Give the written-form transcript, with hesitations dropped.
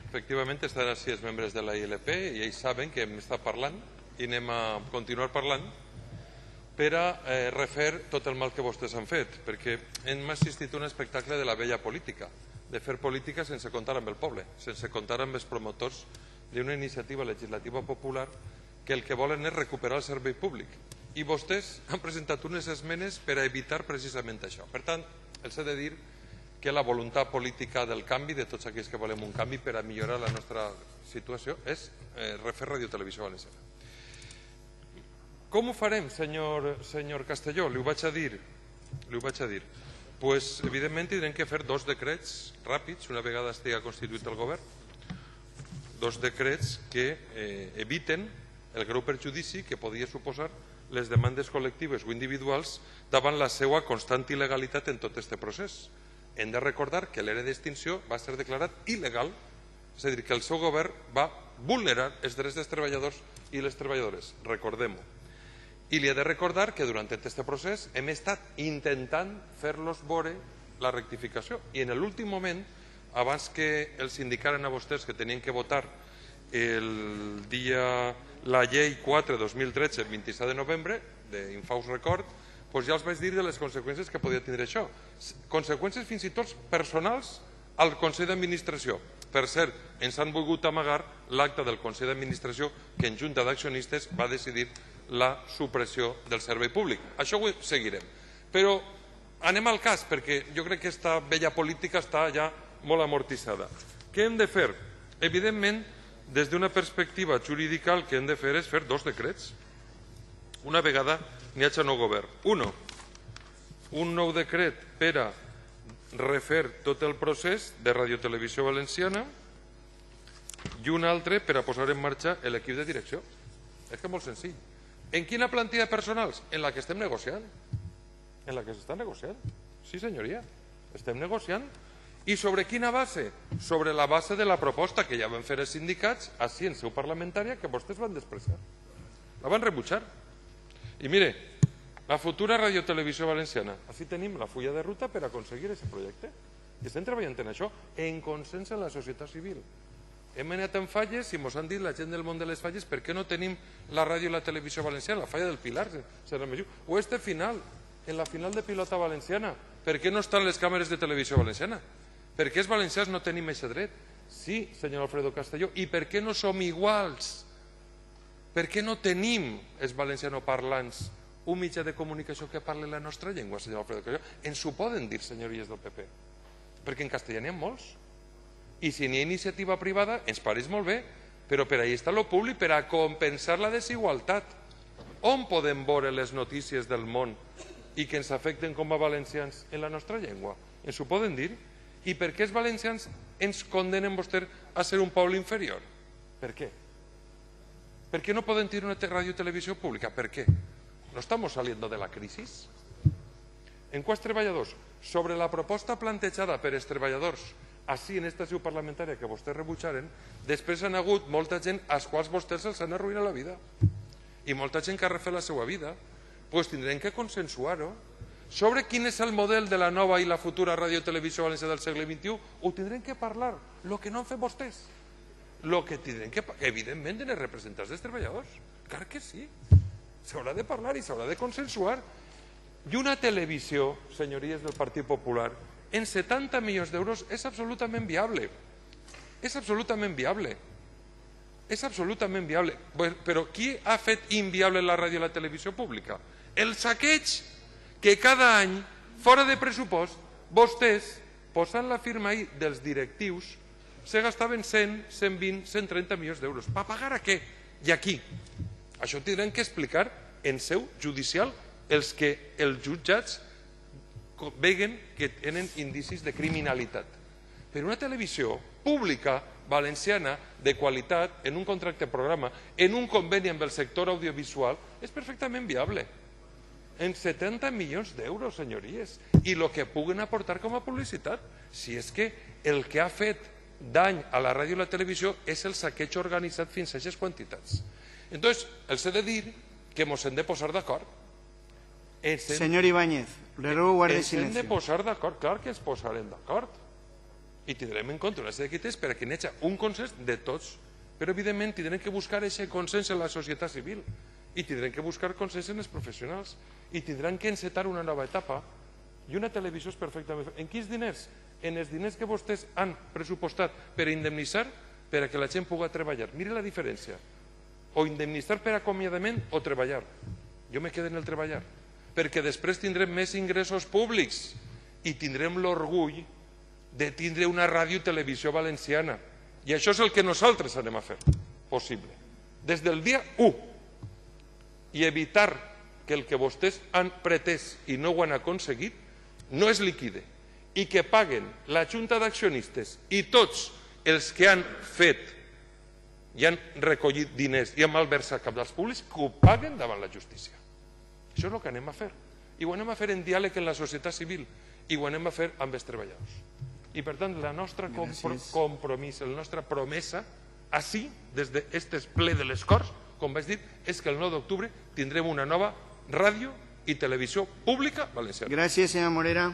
efectivament estan així els membres de la ILP i ells saben que hem estat parlant i anem a continuar parlant per a refer tot el mal que vostès han fet, perquè hem assistit a un espectacle de la vella política, de fer política sense comptar amb el poble, sense comptar amb els promotors d'una iniciativa legislativa popular que el que volen és recuperar el servei públic. I vostès han presentat unes esmenes per a evitar precisament això. Per tant, els he de dir que la voluntat política del canvi, de tots aquells que volem un canvi per a millorar la nostra situació, és refer Radio Televisió Valenciana. Com ho farem, senyor Castelló? Li ho vaig a dir. Pues, evidentment, tindrem que fer dos decrets ràpids, una vegada estigui constituït el govern, dos decrets que eviten el greu perjudici que podia suposar les demandes col·lectives o individuals davant la seva constant il·legalitat en tot aquest procés. Hem de recordar que l'era d'extinció va ser declarat il·legal, és a dir, que el seu govern va vulnerar els drets dels treballadors i les treballadores, recordem-ho. I li he de recordar que durant aquest procés hem estat intentant fer-los veure la rectificació i en l'últim moment, abans que els indicaren a vostès que tenien que votar la llei 4/2013, el 27 de novembre, d'Infaus Record, doncs ja els vaig dir de les conseqüències que podia tindre això. Conseqüències fins i tot personals al Consell d'Administració. Per cert, ens han volgut amagar l'acte del Consell d'Administració que en Junta d'Accionistes va decidir la supressió del servei públic. Això ho seguirem. Però anem al cas, perquè jo crec que aquesta vella política està ja molt amortitzada. Què hem de fer? Evidentment, des d'una perspectiva jurídica, el que hem de fer és fer dos decrets. Una vegada n'hi hagi nou govern. Un nou decret per a refer tot el procés de Radio Televisió Valenciana i un altre per a posar en marxa l'equip de direcció. És que és molt senzill. En quina plantilla de personals? En la que estem negociant. En la que s'està negociant. Sí, senyoria. Estem negociant. I sobre quina base? Sobre la base de la proposta que ja van fer els sindicats així en seu parlamentària que vostès van despreciar. La van rebutjar. I mire, la futura Radio Televisió Valenciana. Així tenim la fulla de ruta per aconseguir aquest projecte. I estem treballant en això, en consens amb la societat civil. Hem anat en falles i ens han dit la gent del món de les falles per què no tenim la ràdio i la televisió valenciana, la falla del Pilar, o este final, en la final de pilota valenciana, per què no estan les càmeres de televisió valenciana? Per què els valencians no tenim aquest dret? Sí, senyor Alfredo Castelló, i per què no som iguals? Per què no tenim els valencianoparlants un mitjà de comunicació que parli la nostra llengua, senyor Alfredo Castelló? Ens ho poden dir, senyories del PP, perquè en castellà n'hi ha molts. I si n'hi ha iniciativa privada, ens pareix molt bé, però per ahí està el públic, per a compensar la desigualtat. On podem veure les notícies del món i que ens afecten com a valencians en la nostra llengua? Ens ho poden dir? I per què els valencians ens condenen vostès a ser un poble inferior? Per què? Per què no poden tenir una ràdio i televisió pública? Per què? ¿No estamos saliendo de la crisis? En quants treballadors? Sobre la proposta plantejada per els treballadors així en esta seu parlamentària que vostès rebutjaren, després han hagut molta gent als quals vostès els han arruïnat la vida i molta gent que ha refet la seva vida. Doncs tindrem que consensuar-ho. Sobre quin és el model de la nova i la futura ràdio i televisió valenciana del segle XXI ho tindrem que parlar, el que no han fet vostès. El que tindrem que parlar, evidentment, dels representants dels treballadors. Clar que sí. S'haurà de parlar i s'haurà de consensuar. I una televisió, senyories del Partit Popular, en 70 milions d'euros és absolutament viable. És absolutament viable. És absolutament viable. Però qui ha fet inviable la ràdio i la televisió pública? El saqueig que cada any, fora de pressupost, vostès, posant la firma ahí dels directius, se gastaven 100, 120, 130 milions d'euros. Per pagar a què? I aquí. Això tindran que explicar en seu judicial els que els jutjats veguen que tenen indicis de criminalitat. Però una televisió pública, valenciana, de qualitat, en un contracte programa, en un conveni amb el sector audiovisual, és perfectament viable. En 70 milions d'euros, senyories. I el que puguen aportar com a publicitat. Si és que el que ha fet dany a la ràdio i la televisió és el saqueig organitzat fins a aquestes quantitats. Entonces, els he de dir que ens hem de posar d'acord. Señor Ibáñez, le ruego guarde ens hem de silencio. posar d'acord, clar que ens posarem d'acord. i tindrem en compte una sèrie de criteris perquè hi hagi un consens de tots, però evidentment tindrem que buscar aquest consens en la societat civil i tindrem que buscar consens en els professionals i tindran que encetar una nova etapa. I una televisió és perfectament... En quins diners? En els diners que vostès han pressupostat per indemnitzar per a que la gent pugui treballar. Mire la diferència. O indemnitzar per acomiadament o treballar. Jo me quedo en el treballar. Perquè després tindrem més ingressos públics i tindrem l'orgull de tindre una ràdio i televisió valenciana. I això és el que nosaltres anem a fer possible. Des del dia 1. I evitar que el que vostès han pretès i no ho han aconseguit no es liquide i que paguen la Junta d'Accionistes i tots els que han fet i han recollit diners i han malversat cabals públics, que ho paguen davant la justícia. Això és el que anem a fer. I ho anem a fer en diàleg amb la societat civil i ho anem a fer amb els treballadors. I per tant, la nostra compromís, la nostra promesa, així, des d'aquest ple de les Corts, com vaig dir, és que el 9 d'octubre tindrem una nova ràdio i televisió pública valenciana. Gràcies, senyor Morera.